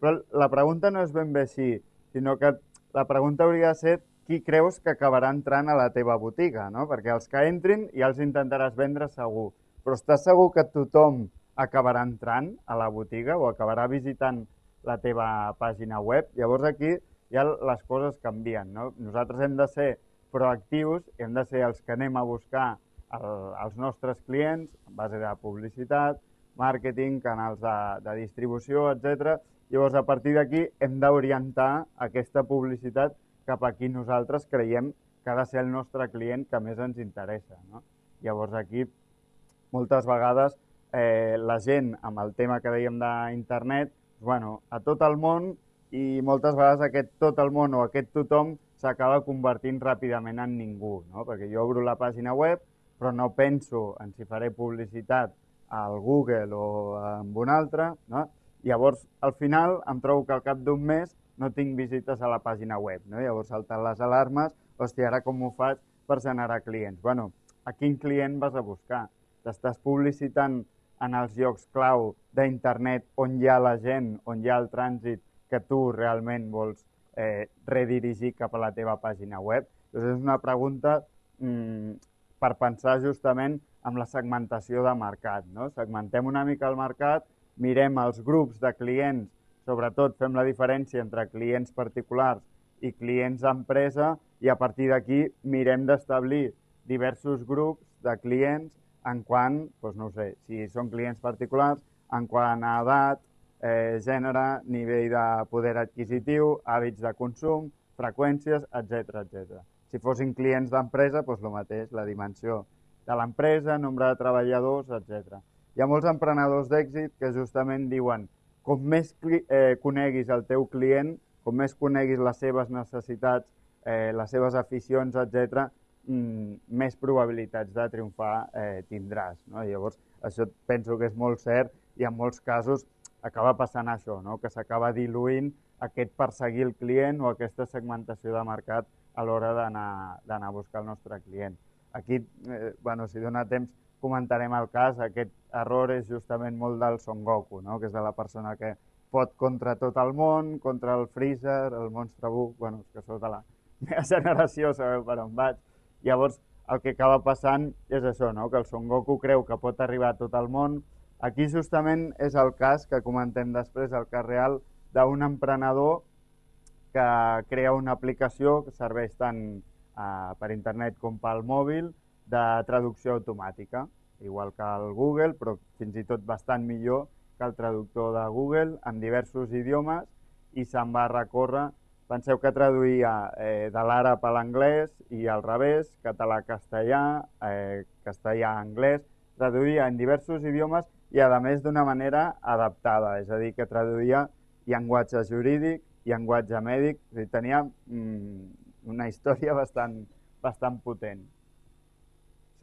Però la pregunta no és ben bé així, sinó que la pregunta hauria de ser qui creus que acabarà entrant a la teva botiga, no? Perquè els que entrin ja els intentaràs vendre segur, però estàs segur que tothom acabarà entrant a la botiga o acabarà visitant la teva pàgina web? Llavors aquí ja les coses canvien, no? Nosaltres hem de ser proactius, hem de ser els que anem a buscar el, els nostres clients en base de publicitat, màrqueting, canals de, de distribució, etcètera. Llavors, a partir d'aquí, hem d'orientar aquesta publicitat cap a qui nosaltres creiem que ha de ser el nostre client que més ens interessa, no? Llavors, aquí, moltes vegades, eh, la gent, amb el tema que dèiem d'internet, bueno, a tot el món, i moltes vegades aquest tot el món o aquest tothom s'acaba convertint ràpidament en ningú, no? Perquè jo obro la pàgina web, però no penso en si faré publicitat al Google o amb un altre, no? Llavors, al final, em trobo que al cap d'un mes no tinc visites a la pàgina web, no? Llavors salten les alarmes, hòstia, ara com ho faig per generar clients? Bueno, a quin client vas a buscar? T'estàs publicitant en els llocs clau d'internet on hi ha la gent, on hi ha el trànsit que tu realment vols eh, redirigir cap a la teva pàgina web? Llavors és una pregunta mmm, per pensar justament amb la segmentació de mercat, no? Segmentem una mica el mercat, mirem els grups de clients, sobretot fem la diferència entre clients particulars i clients d'empresa i a partir d'aquí mirem d'establir diversos grups de clients en quant, doncs no ho sé, si són clients particulars, en quant a edat, eh, gènere, nivell de poder adquisitiu, hàbits de consum, freqüències, etcètera, etcètera. Si fossin clients d'empresa, doncs el mateix, la dimensió de l'empresa, nombre de treballadors, etcètera. Hi ha molts emprenedors d'èxit que justament diuen com més eh, coneguis el teu client, com més coneguis les seves necessitats, eh, les seves aficions, etcètera, mmm, més probabilitats de triomfar eh, tindràs, no? Llavors, això penso que és molt cert i en molts casos acaba passant això, no? Que s'acaba diluint aquest perseguir el client o aquesta segmentació de mercat a l'hora d'anar a buscar el nostre client. Aquí, eh, bueno, si dona temps, comentarem el cas. Aquest error és justament molt del Son Goku, no? Que és de la persona que pot contra tot el món, contra el Freezer, el Monstre Buu, bueno, que sou de la meva generació, sabeu per on vaig. Llavors, el que acaba passant és això, no? Que el Son Goku creu que pot arribar a tot el món. Aquí justament és el cas que comentem després, el cas real d'un emprenedor que crea una aplicació que serveix tant eh, per internet com pel mòbil de traducció automàtica, igual que el Google, però fins i tot bastant millor que el traductor de Google en diversos idiomes i se'n va recórrer. Penseu que traduïa eh, de l'àrab a l'anglès i al revés, català a castellà, eh, castellà a anglès, traduïa en diversos idiomes i a més d'una manera adaptada, és a dir, que traduïa llenguatge jurídic, llenguatge mèdic, és a dir, tenia mm, una història bastant, bastant potent.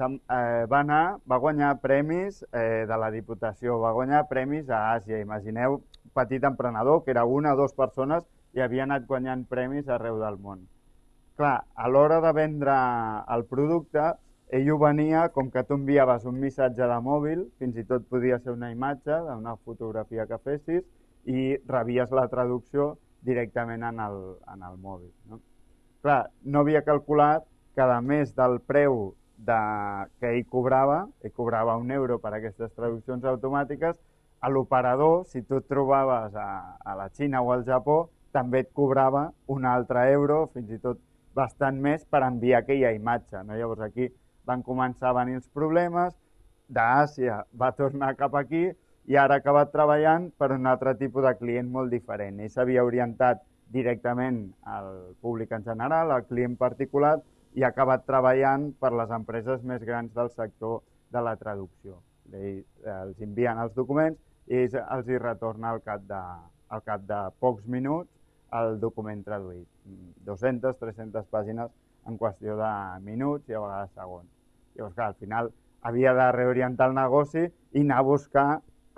Eh, va anar, va guanyar premis eh, de la Diputació, va guanyar premis a Àsia. Imagineu un petit emprenedor que era una o dues persones i havia anat guanyant premis arreu del món. Clar, a l'hora de vendre el producte, ell ho venia com que tu enviaves un missatge de mòbil, fins i tot podia ser una imatge d'una fotografia que fessis, i rebies la traducció directament en el, en el mòbil, no? Clar, no havia calculat que a més del preu de, que ell cobrava, ell cobrava un euro per aquestes traduccions automàtiques, a l'operador, si tu et trobaves a, a la Xina o al Japó, també et cobrava un altre euro, fins i tot bastant més, per enviar aquella imatge, no? Llavors aquí van començar a venir els problemes, d'Àsia va tornar cap aquí i ara ha acabat treballant per un altre tipus de client molt diferent. Ell s'havia orientat directament al públic en general, al client particular, i ha acabat treballant per les empreses més grans del sector de la traducció. Ells els envien els documents i ells els hi retorna al cap de, al cap de pocs minuts el document traduït. dues-centes, tres-centes pàgines en qüestió de minuts i a vegades segons. Llavors, clar, al final havia de reorientar el negoci i anar a buscar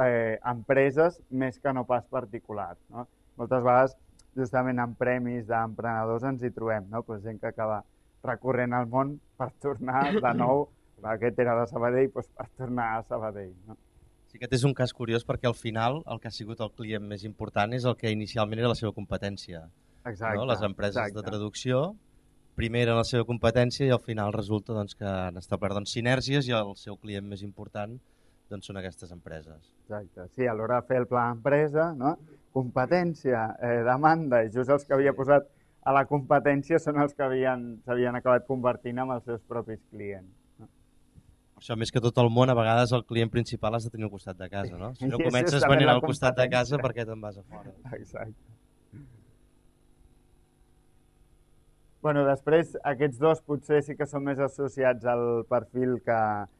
eh, empreses més que no pas particulars. No? Moltes vegades, justament en premis d'emprenedors ens hi trobem, no? Pues gent que acaba recorrent al món per tornar de nou, aquest era de Sabadell, doncs per tornar a Sabadell. No? Sí, aquest és un cas curiós perquè al final el que ha sigut el client més important és el que inicialment era la seva competència. Exacte. No? Les empreses exacte. de traducció primer eren la seva competència i al final resulta doncs, que han establert doncs, sinèrgies i el seu client més important doncs, són aquestes empreses. Exacte. Sí, a l'hora de fer el pla d'empresa, no? Competència, eh, demanda, i just els que havia posat a la competència són els que s'havien acabat convertint en els seus propis clients. No? Per això, més que tot el món, a vegades el client principal has de tenir al costat de casa, no? Si no I comences venent al costat de casa, per què te'n vas a fora? Exacte. Bueno, després, aquests dos potser sí que són més associats al perfil que,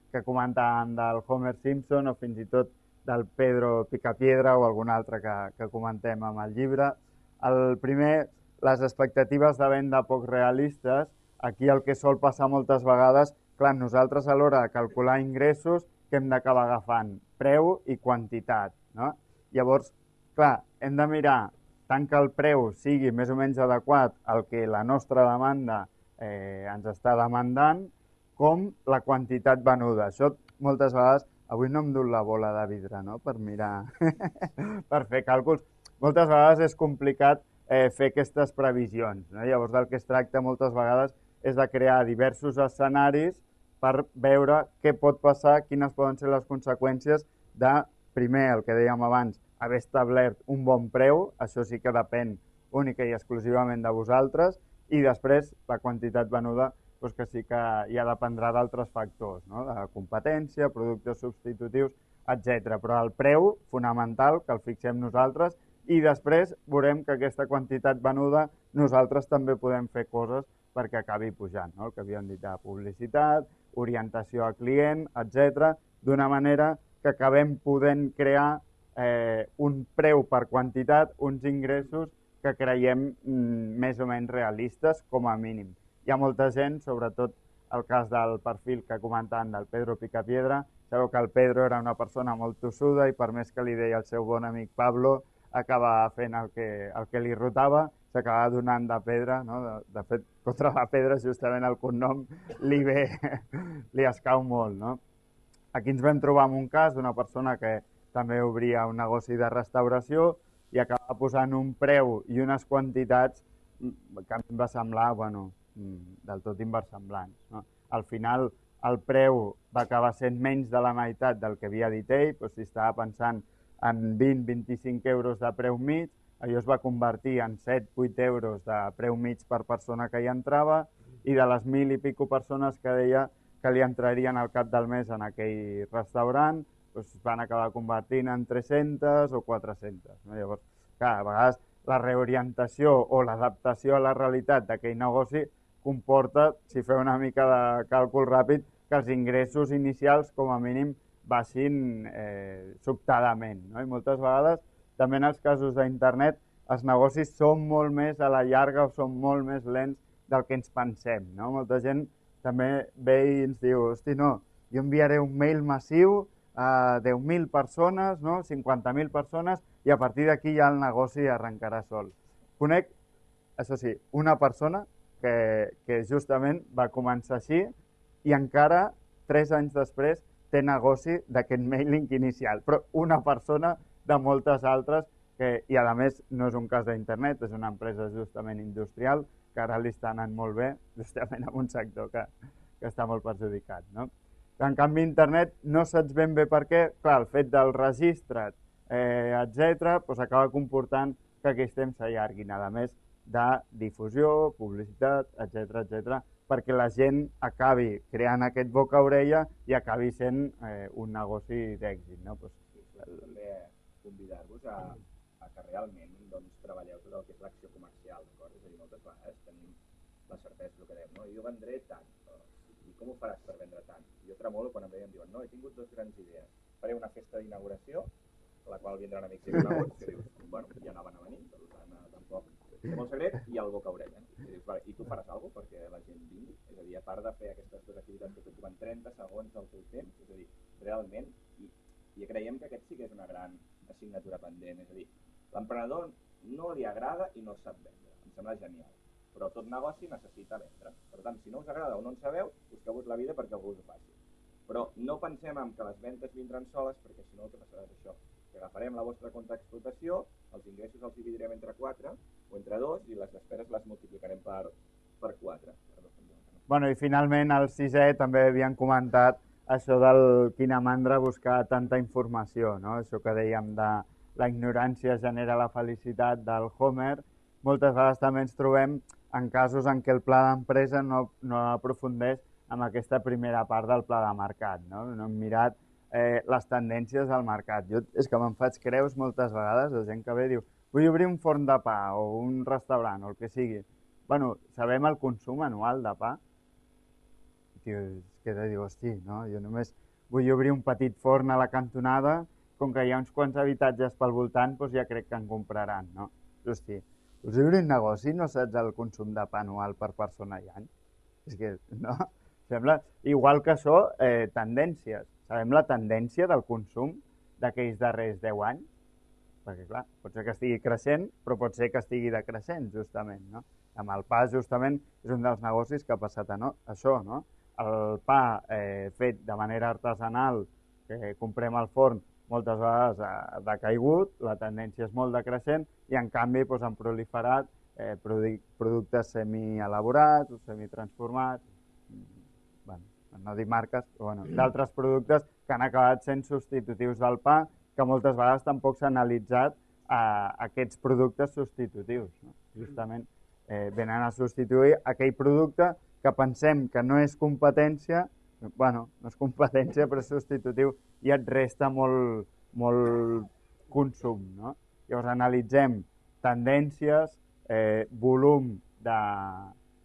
que comentàvem del Homer Simpson o fins i tot del Pedro Picapiedra o algun altre que, que comentem amb el llibre. El primer, les expectatives de venda poc realistes. Aquí el que sol passar moltes vegades, clar, nosaltres a l'hora de calcular ingressos, que hem d'acabar agafant? Preu i quantitat, no? Llavors, clar, hem de mirar tant que el preu sigui més o menys adequat al que la nostra demanda eh, ens està demandant, com la quantitat venuda. Això moltes vegades, avui no em du la bola de vidre, no?, per mirar, per fer càlculs. Moltes vegades és complicat eh, fer aquestes previsions, no? Llavors del que es tracta moltes vegades és de crear diversos escenaris per veure què pot passar, quines poden ser les conseqüències de, primer, el que dèiem abans, haver establert un bon preu, això sí que depèn única i exclusivament de vosaltres, i després la quantitat venuda, doncs que sí que ja dependrà d'altres factors, no? De competència, productes substitutius, etcètera. Però el preu fonamental, que el fixem nosaltres, i després veurem que aquesta quantitat venuda nosaltres també podem fer coses perquè acabi pujant, no? El que havíem dit de publicitat, orientació al client, etcètera, d'una manera que acabem podent crear eh, un preu per quantitat, uns ingressos que creiem mm, més o menys realistes com a mínim. Hi ha molta gent, sobretot el cas del perfil que comentaven del Pedro Picapiedra, sabeu que el Pedro era una persona molt tossuda i per més que li deia el seu bon amic Pablo, acabava fent el que, el que li rotava, s'acabava donant de pedra, no? De, de fet, contra la pedra justament el cognom li ve, li escau molt, no? Aquí ens vam trobar en un cas d'una persona que també obria un negoci de restauració i acabava posant un preu i unes quantitats que a mi em va semblar, bueno, del tot inversemblants, no? Al final el preu va acabar sent menys de la meitat del que havia dit ell, doncs si estava pensant en vint a vint-i-cinc euros de preu mig, allò es va convertir en set a vuit euros de preu mig per persona que hi entrava i de les mil i pico persones que deia que li entrarien al cap del mes en aquell restaurant, doncs van acabar convertint en tres-centes o quatre-centes. No? Llavors, clar, a vegades la reorientació o l'adaptació a la realitat d'aquell negoci comporta, si feu una mica de càlcul ràpid, que els ingressos inicials com a mínim baixin eh, sobtadament. No? I moltes vegades, també en els casos d'internet, els negocis són molt més a la llarga o són molt més lents del que ens pensem. No? Molta gent també ve i ens diu, hosti, no, jo enviaré un mail massiu a deu mil persones, no? cinquanta mil persones, i a partir d'aquí ja el negoci arrencarà sol. Conec, això sí, una persona que, que justament va començar així i encara, tres anys després, té negoci d'aquest mailing inicial, però una persona de moltes altres, que, i a més no és un cas d'internet, és una empresa justament industrial, que ara li està anant molt bé, justament en un sector que, que està molt perjudicat. No? En canvi, internet no saps ben bé per què, clar, el fet del registre, eh, etcètera, doncs acaba comportant que aquells temps s'allarguin, a més de difusió, publicitat, etcètera, etcètera, perquè la gent acabi creant aquest boca-orella i acabi sent eh, un negoci d'èxit. No? Pues, també convidar-vos a, a que realment doncs, treballeu tot el que és l'acció comercial, d'acord? És a dir, moltes vegades tenim la certesa del que dèiem, no? Jo vendré tant, no? I com ho faràs per vendre tant? Jo tremolo quan em veiem, diuen, no, he tingut dues grans idees. Faré una festa d'inauguració, a la qual vindran amics i coneguts, que dius, bueno, ja anaven a venir, per tant, tampoc és molt secret, i el boca-orella. No? I dius, vale, i tu faràs alguna cosa perquè la gent vingui? És a dir, a part de fer aquestes dues activitats que t'ocupen trenta segons del teu temps, és a dir, realment, i, i creiem que aquest sí que és una gran assignatura pendent, és a dir, l'emprenedor no li agrada i no sap vendre, em sembla genial, però tot negoci necessita vendre. Per tant, si no us agrada o no en sabeu, busqueu-vos la vida perquè algú us ho faci. Però no pensem en que les ventes vindran soles, perquè si no el que passarà és això, que agafarem la vostra compte d'explotació, els ingressos els dividirem entre quatre o entre dos i les despeses les multiplicarem per, per quatre. Bueno, i finalment al sisè també havien comentat això del quina mandra buscar tanta informació, no? Això que dèiem de la ignorància genera la felicitat del Homer. Moltes vegades també ens trobem en casos en què el pla d'empresa no, no aprofundeix en aquesta primera part del pla de mercat. No, no hem mirat eh, les tendències del mercat. Jo és que me'n faig creus moltes vegades de gent que ve i diu vull obrir un forn de pa o un restaurant o el que sigui. Bueno, sabem el consum anual de pa? Tio, és que te diu, hosti, no? Jo només vull obrir un petit forn a la cantonada, com que hi ha uns quants habitatges pel voltant, doncs ja crec que en compraran, no? Hosti, us obrir un negoci no saps el consum de pa anual per persona i any? És que, no? Sembla, igual que això, eh, tendències. Sabem la tendència del consum d'aquells darrers deu anys? Perquè, clar, pot ser que estigui creixent, però pot ser que estigui decreixent, justament, no? Amb el pa, justament, és un dels negocis que ha passat a no, això, no? El pa eh, fet de manera artesanal, que comprem al forn, moltes vegades ha decaigut, la tendència és molt decreixent i, en canvi, doncs, han proliferat eh, productes semi-elaborats o semi-transformats, bueno, no dic marques, però bueno, d'altres productes que han acabat sent substitutius del pa, que moltes vegades tampoc s'ha analitzat eh, aquests productes substitutius. No? Justament eh, venen a substituir aquell producte que pensem que no és competència, bueno, no és competència però és substitutiu i et resta molt, molt consum. No? Llavors analitzem tendències, eh, volum de,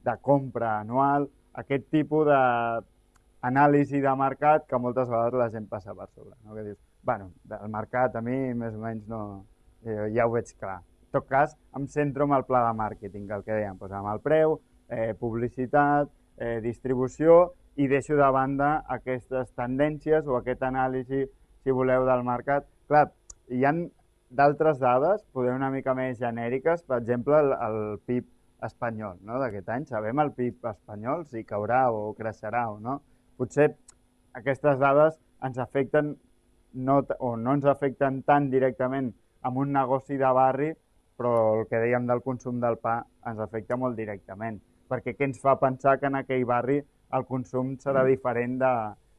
de compra anual, aquest tipus d'anàlisi de mercat que moltes vegades la gent passa per sobre. No? Que dius, bueno, del mercat a mi més o menys no, eh, ja ho veig clar. En tot cas, em centro en el pla de màrqueting, el que dèiem, doncs amb el preu, eh, publicitat, eh, distribució, i deixo de banda aquestes tendències o aquesta anàlisi, si voleu, del mercat. Clar, hi ha d'altres dades, poder una mica més genèriques, per exemple, el, el P I B espanyol, no?, d'aquest any. Sabem el P I B espanyol, si caurà o creixerà o no. Potser aquestes dades ens afecten no, o no ens afecten tan directament amb un negoci de barri, però el que dèiem del consum del pa ens afecta molt directament, perquè què ens fa pensar que en aquell barri el consum serà diferent de,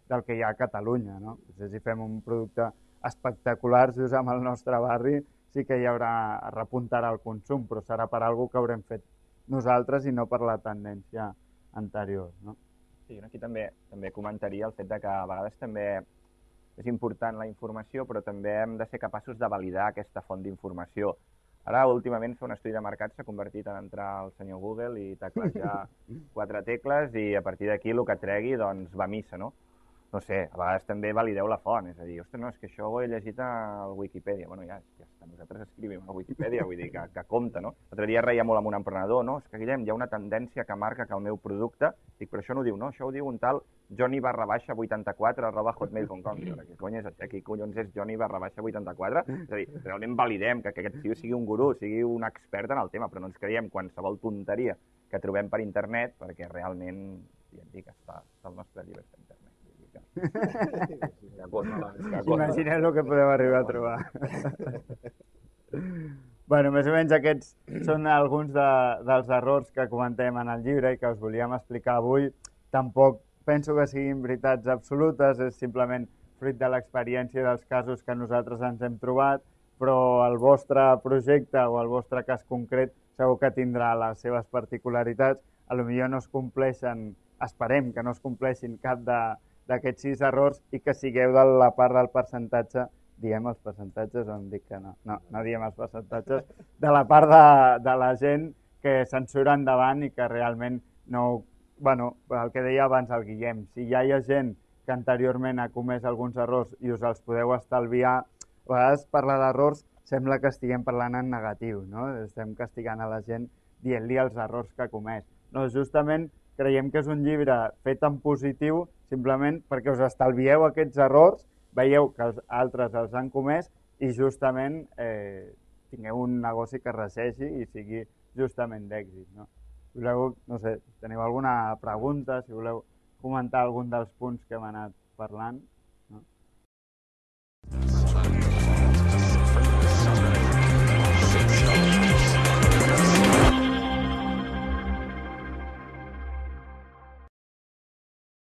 del que hi ha a Catalunya, no? Potser si fem un producte espectacular just amb el nostre barri sí que hi haurà, repuntarà el consum, però serà per alguna cosa que haurem fet nosaltres i no per la tendència anterior, no? Sí, aquí també, també comentaria el fet de que a vegades també és important la informació, però també hem de ser capaços de validar aquesta font d'informació. Ara, últimament, fer un estudi de mercat s'ha convertit en entrar al senyor Google i teclejar quatre tecles i a partir d'aquí el que tregui doncs, va a missa, no? No sé, a vegades també valideu la font, és a dir, ostres, no, és que això ho he llegit al Wikipedia. Bueno, ja, ja està, nosaltres escrivim a Wikipedia, vull dir que, que compta, no? L'altre dia reia molt amb un emprenedor, no? És que, Guillem, hi ha una tendència que marca que el meu producte, dic, però això no ho diu, no? Això ho diu un tal Johnny barra baixa vuitanta-quatre arroba hotmail punt com. Què cony és això? Qui collons és Johnny barra baixa vuitanta-quatre? És a dir, realment validem que, que aquest tio sigui un gurú, sigui un expert en el tema, però no ens creiem qualsevol tonteria que trobem per internet, perquè realment, ja et dic, està, està el nostre llibre a internet. Imagineu el que podeu arribar a trobar. Bueno, més o menys aquests són alguns de, dels errors que comentem en el llibre i que us volíem explicar avui. Tampoc penso que siguin veritats absolutes, és simplement fruit de l'experiència dels casos que nosaltres ens hem trobat, però el vostre projecte o el vostre cas concret segur que tindrà les seves particularitats. a lo millor no es compleixen, esperem que no es compleixin cap d'aquests sis errors i que sigueu de la part del percentatge, diem els percentatges o em dic que no, no, no diem els percentatges, de la part de, de la gent que se'n surt endavant i que realment no... Bueno, el que deia abans el Guillem, si ja hi ha gent que anteriorment ha comès alguns errors i us els podeu estalviar, a vegades parlar d'errors sembla que estiguem parlant en negatiu, no? Estem castigant a la gent dient-li els errors que ha comès. No, justament creiem que és un llibre fet en positiu simplement perquè us estalvieu aquests errors, veieu que els altres els han comès i justament eh, tingueu un negoci que resegi i sigui justament d'èxit, no? Si voleu, no sé, si teniu alguna pregunta, si voleu comentar algun dels punts que hem anat parlant.